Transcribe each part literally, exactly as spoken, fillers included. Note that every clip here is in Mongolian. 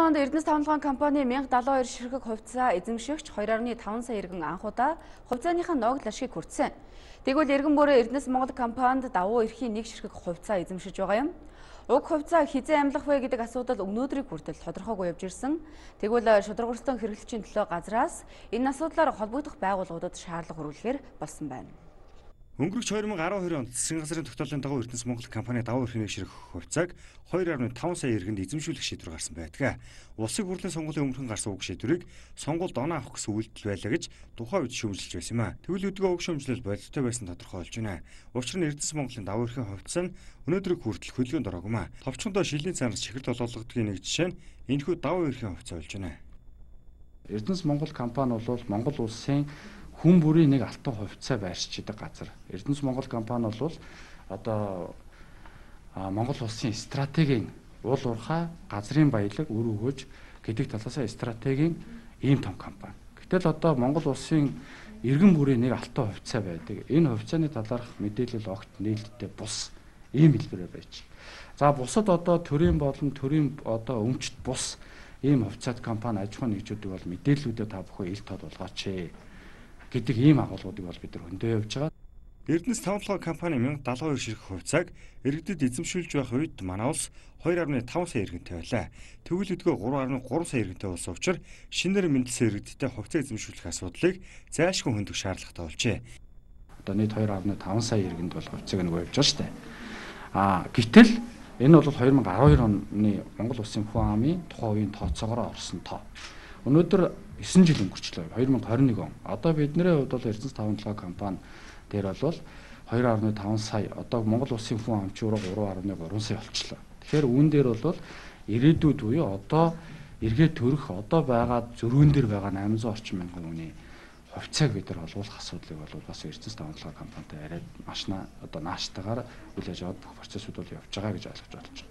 онд Эрдэнэс тавталгаан компани мянга далайн хоёр ширхэг хувьцаа эзэмшигч two point five сая иргэн анхудаа хувьцааныхаа ногдол ашиг хүртсэн. Тэгвэл эргэн бүрээ Эрдэнэс Монгол компанид давуу эрхийн нэг ширхэг хувьцаа эзэмшиж байгаа юм. Уг хувьцаа хизээ амлах вэ гэдэг асуудал өнөөдрийг хүртэл тодорхойгүй явж ирсэн. Тэгвэл шударгуурстан хэрэглэгчийн төлөө газраас энэ асуудлаар холбогдох байгууллагуудад шаардлага хүргэлэхээр болсон байна. Өнгөрөх two thousand twelve онд засгийн газрын тогтоолын дагуу Эрдэнэс Монгол компани давуу эрхийн нэг ширхэг хувьцааг two point five сая иргэнд эзэмшүүлэх шийдвэр гарсан байдаг. Улсын хурлын сонгуулийн өмнөхөн гарсан уг шийдвэрийг сонгуульд оноо авах гэсэн үйлдэл байлаа гэж тухайн үед шүүмжилж байсан юм а. Тэгвэл өдгөө уг шүүмжлэл бололтой байсан тодорхой болж байна. Учир нь Эрдэнэс Монголын давуу эрхийн хувьцаа нь өнөөдрийг хүртэл хөдөлгөөнд ороогүй юм а. Товчхондоо шилийн цаанаас чихэр толгойлгодгийн нэг жишээ нь энэхүү давуу эрхийн хувьцаа болж байна. Эрдэнэс Монгол компани бол Монгол улсын хүн бүрийн нэг алтан хувьцаа байршиж байгаа газар. Эрдэнэс Монгол компани бол одоо Монгол улсын стратегийн уул уурхай газрын баялаг үр өгөөж гэдэг талаас стратегийн ийм том компани. Гэтэл одоо Монгол улсын иргэн бүрийн нэг алтан хувьцаа байдаг. Энэ хувьцааны талаарх мэдээлэл огт нээлттэй бус ийм хэлбэрээр байж. За бусад одоо төрийн болон төрийн одоо өмчт бус ийм хувьцаат компани аж ахуй нэгжүүдийг бол мэдээллүүдэд та бүхэн ил тод болгооч гэдэг ийм агуулгуудыг бол бид нар хөндөө явж байгаа. Эрдэнэс тавталгаан компани мянга далайн хоёр ширхэг хувьцааг иргэдэд эзэмшүүлж байх үед манай улс two point five сая иргэнтэй байлаа. Тэгвэл өдгөө three point three сая иргэнтэй болсон учраас шинээр мэндэлсэн иргэдтэй хувьцаа эзэмшүүлэх асуудлыг зайлшгүй хөндөх шаардлагатай болжээ. Одоо нийт two point five сая иргэнд бол хувьцааг нэг явж байгаа шүү дээ. Аа гэтэл энэ бол two thousand twelve оны Монгол улсын хүн амын тухайн үеийн тооцоогоор орсон тоо. Өнөөдөр nine жил өнгөрчлөө. two thousand twenty-one он. Одоо бидний хувьд бол Эрдэнэс тавталгаан компани дээр бол two point five сая, одоо Монгол улсын хүн амчуур three point three сая болчихлоо. Тэгэхээр үүн дээр бол ирээдүйд буюу одоо эргээд төрөх одоо байгаа зөрүүн дээр байгаа eight hundred орчим мянган хүний хувьцааг бид нар олгуулах асуудлыг бол бас Эрдэнэс тавталгаан компанитай арай маш одоо нааштайгаар үйл ажиллагаанд бүх процессыг бол явж байгаа гэж ойлгож болж байна.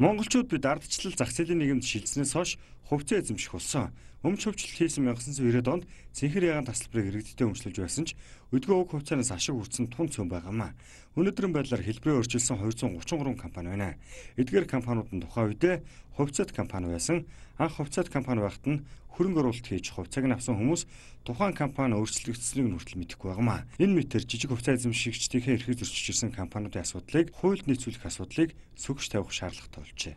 Монголчууд бид ардчлал зах зээлийн нийгэмд шилжснээс хойш хувьцаа эзэмших болсон. Өмч хөвчлөлт хийсэн nineteen ninety онд цэнхэр ягаан тасалбарыг иргэдтэй өмчлөж байсан ч өдгөө уг хувьцаанаас ашиг хүртсэн тун цөм байгаамаа. Өнөөдрийн байдлаар хэлбэрээ өөрчилсөн two hundred thirty-three компани байна. Эдгээр компаниуд нь тухайн үедээ хувьцаат компани байсан. Анх хувьцаат компани байхад нь хөрөнгө оруулалт хийж хувьцааг нь авсан хүмүүс тухайн компани өөрчлөгдсөнийг нь хүртэл мэдэхгүй байгаамаа. Энэ мэтэр жижиг хувьцаа эзэмшигчдийнхээ эрхийг зөрчиж ирсэн компаниудын асуудлыг хуульд нийцүүлэх асуудлыг сөгж тавих шаардлагатай болжээ.